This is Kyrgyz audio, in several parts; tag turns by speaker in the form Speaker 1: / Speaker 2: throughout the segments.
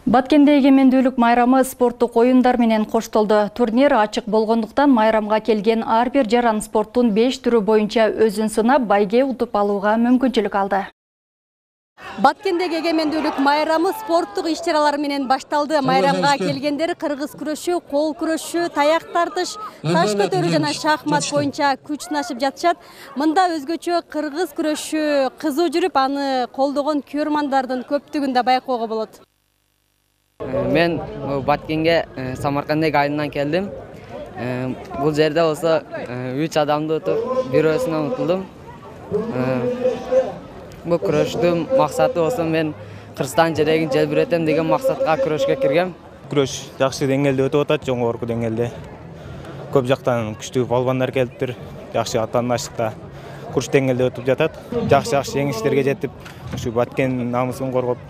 Speaker 1: Баткенде эгемендүүлүк майрамы спорттук оюндар менен коштолду. Турнир ачык болгондуктан майрамга келген ар бир жаран спорттун 5 түрү боюнча өзүн сынап, байге утуп алууга мүмкүнчүлүк алды.
Speaker 2: Баткендеги эгемендүүлүк майрамы спорттук иш-чаралар менен башталды. Майрамга келгендер кыргыз күрөшү, кол күрөшү, таяк тартыш, таш көтөрүү жана шахмат боюнча күч сынашып жатышат. Мында өзгөчө кыргыз күрөшү кызуу жүрүп, аны колдогон көрөрмандардын көптүгүн да байкоого болот.
Speaker 3: Мен Баткенге Самаркандек айылынан келдим. Бул жерде болсо 3 адамды утуп, бирөөсүнөн утулдум. Бул күрөштүн максаты болсо мен Кыргызстан жерегин желбиретем деген максатка күрөшкө киргем.
Speaker 4: Күрөш жакшы деңгээлде өтүп атат, жогорку деңгээлде. Көп жактан күчтүү балбандар келиптир. Жакшы атаандаштыкта курч деңгээлде өтүп жатат. Жакшы жеңиштерге жетип, ушу Баткен намысын коргоп,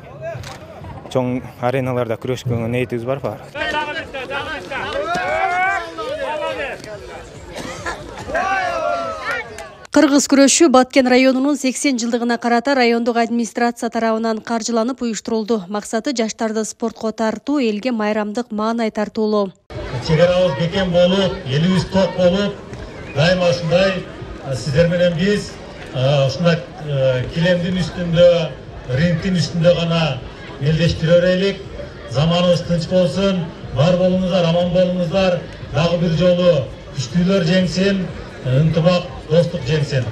Speaker 4: чоң ареналарда күрөшкөнгө ниетибиз бар.
Speaker 2: Кыргыз күрөшү Баткен районунун 80 жылдыгына карата райондук администрация тарабынан каржыланып уюштурулду. Максаты жаштарды спортко тартуу, элге майрамдык маанай тартуулоо.
Speaker 5: Чек арабыз бекем болуп, элибиз ток болуп, дайыма ушундай сиздер менен биз ушундай килемдин үстүндө, рингдин үстүндө гана элдештире берелик. Заманыбыз тынч болсун, бар болуңуздар, аман болуңуздар. Дагы бир жолу күчтүүлөр жеңсин, ынтымак, достук жеңсин.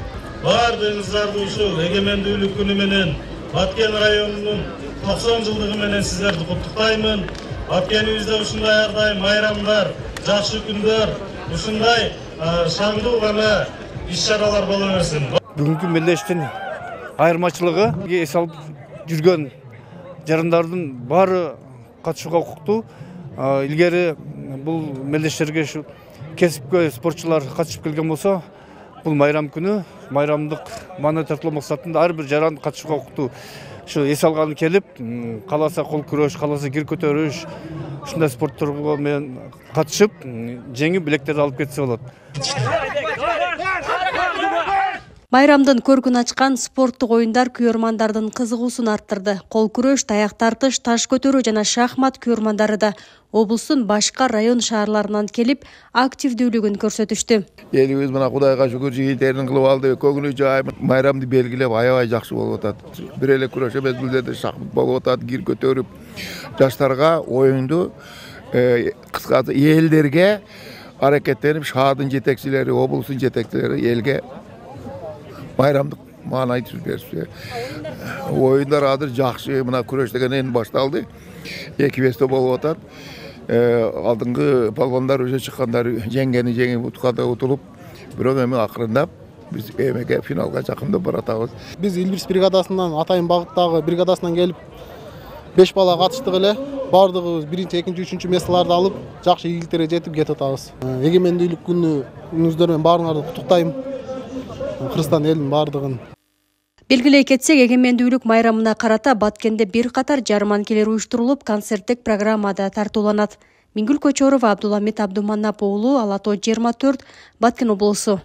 Speaker 5: Баардыгыңыздарды ушул эгемендүүлүк күнү менен Баткен районунун 90 жылдыгы менен сиздерди куттуктаймын. Баткенибизде ушундай ар дайым майрамдар, жакшы күндөр, ушундай шаңдуу гана иш-чаралар боло берсин.
Speaker 6: Бүгүнкү мелдештин айырмачылыгы эс алып жүргөн жарандардын баары катышууга укуктуу. Илгери бул мелдештерге ушу кесипкөй спортчулар катышып келген болсо, бул майрам күнү майрамдык маанай тартуулоо максатында ар бир жаран катышууга укуктуу. Ушу эс алганы келип, кааласа кол күрөш, кааласа кир көтөрүш, ушундай спорттторго менен катышып, жеңип билектерди алып кетсе болот.
Speaker 2: Майрамдын көркүн ачкан спорттук оюндар көрөрмандардын кызыгуусун арттырды. Кол күрөш, таяк тартыш, таш көтөрүү жана шахмат көрөрмандары да облустун башка район шаарларынан келип, активдүүлүгүн көрсөтүштү.
Speaker 7: Элибиз мына Кудайга шүгүр жигиттерин кылып алды. Көңүлү жай майрамды белгилеп аябай жакшы болуп атат. Бир эле күрөш эмес, бул жерде шахмат болуп атат, кир көтөрүп, жаштарга оюнду кыскасы элдерге аракеттенип, шаардын жетекчилери, облустун жетекчилери элге майрамдык маанай түзүп беришти. Оюндар азыр жакшы, мына күрөш деген эми башталды. 2-5 болуп атат. Алдыңкы балбандар уже чыккандар жеңгени жеңип, утканда утулуп, бирок эми акырындап биз эмеге финалга жакындап баратабыз.
Speaker 8: Биз Илбирс бригадасынан, Атайын багыттагы бригадасынан келип 5 бала катыштык эле. Бардыгыбыз 1-2, 3 месталарды алып, жакшы ийгиликтерге жетип кетип атабыз. Эгемендүүлүк күнүңүздөр менен баарыңарды куттуктайм. Кыргызстан элинин бардыгын.
Speaker 2: Белгилей кетсек, эгемендүүлүк майрамына карата Баткенде бир катар жарманкелер уюштурулуп, концерттик программада тартууланат. Мингүл Көчөрова, Абдуламит Абдуманап уулу, Ала Тоо 24, Баткен облусу.